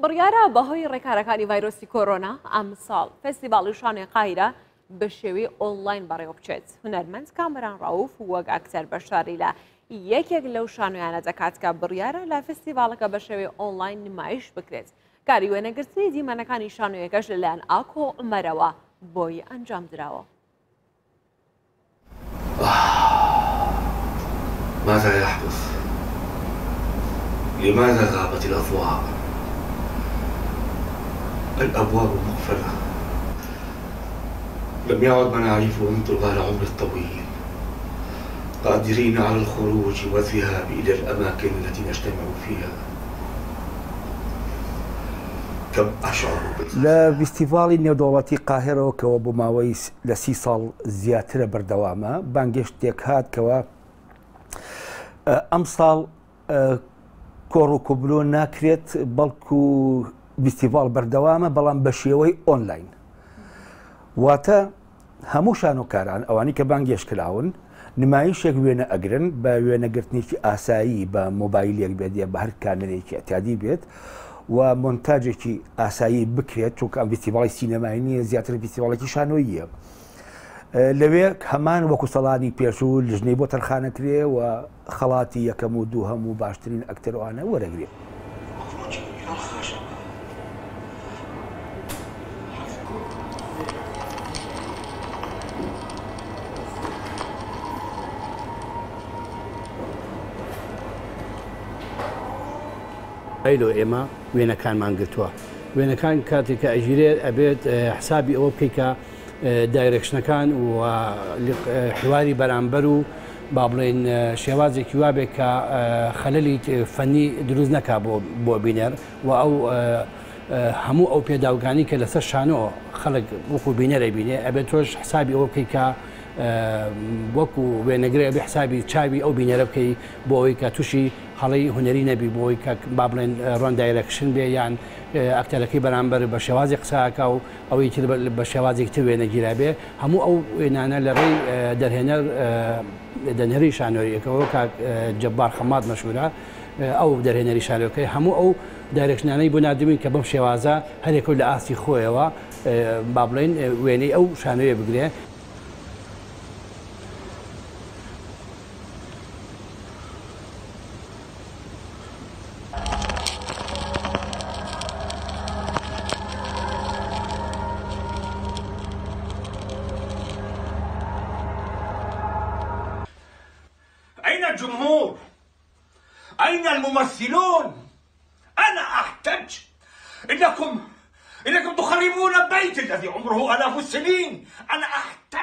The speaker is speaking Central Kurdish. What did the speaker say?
بڕیارە بەهۆی ڕێکارەکانی ڤایرۆسی کۆرۆنا ئەمساڵ فێستیڤاڵی شانۆی قاهیرە بە شێوەی ئۆنلاین بەڕێوەبچێت. هونەرمەند کامەران ڕەئوف وەک ئەکتەر بەشداری لە یەکێک لەو شانۆیانە دەکات کە بڕیارە لە فێستیڤاڵەکە بە شێوەی ئۆنلاین نمایش بکرێت. کاری وێنەگرتنی دیمەنەکانی شانۆیەکەش لەلایەن ئاکۆ عومەرەوە بۆی ئەنجامدراوە. ماذا يحدث؟ لماذا غابت الأضواء؟ الأبواب مقفلة لم يعد من أعرفه من طوال عمري الطويل قادرين على الخروج والذهاب إلى الأماكن التي نجتمع فيها كم أشعر لە فیستیڤاڵی نێودەوڵەتی قاهێرەوە کەوە بۆ ماوەی لە 30 ساڵ زیاترە بەردەوامە بانگێشتێک هات کەوە ئەمساڵ کۆڕ و کۆبلۆ ناکرێت بەڵکو فیستیڤاڵ بەردەوامە بەڵام بە شێوەی ئۆنلاین واتە هەموو شانۆکاران ئەوانی کە بانگێشت کراون نمایشێک وێنە ئەگرن بە وێنەگرتنێکی ئاسایی بە مۆبایلێک بێت یا بە هەر کامێرەیەکی ئەتیادی بێت و مۆنتاجێکی ئاسایی بکرێت چونکە ئەم فیستیڤاڵی سینەمایی نییە زیاتر فیستیڤاڵێکی شانۆییە لەوێ هەمان وەکو سەڵانی پێشوو لژنەی بۆ تەرخانەکرێ و خەڵاتی یەکەم و دووهەم و باشترین ئەکتەر ئەوانە وەرەگرێ. ئەیلۆ ئێمە وێنەکانمان گرتووە وێنەکان کاتێک کە ئەگیرێت ئەبێت حسابی ئەوە بکەیت کە direction ەکان و حواری بەرامبەر و با بڵێین شێوازێکی وابێ کە خەلەلی فەنی دروست نەکا بۆ بۆ بینەر و ئەو هەموو ئەو پێداوگانی کە لەسەر شانۆ خەڵک وەکو بینەرە بینێ ئەبێت تۆش حسابی ئەوە بکەی کە وەکو وێنەگرێ ئەبێ حسابی چاوی ئەو بینەرە بکەی بۆ ئەوەی کە تووشی هەڵەی هونەری نەبی بۆ ئەوەی کە با بڵێن wrong direction بێ یان ئەکتەرەکەی بەرامبەر بە شێوازی قسەکە و ئەوەی تر بە شێوازێکی تر وێنەگیرابێ هەموو ئەو وێنانە لە ڕێی دەرهێنەر دەرهێنەری شانۆیەکەوە کاک جەبار خەمات مەشهورە ئەو دەرهێنەری شانۆکەی هەموو ئەو direction انەی بۆ ناردبووین کە بەم شێوازە هەرێکەو لە ئاستی خۆیەوە با بڵێین وێنەی ئەو شانۆیە بگرێ. أين الجمهور؟ أين الممثلون؟ أنا أحتج إنكم إنكم تخربون بيتي الذي عمره آلاف السنين أنا أحتج.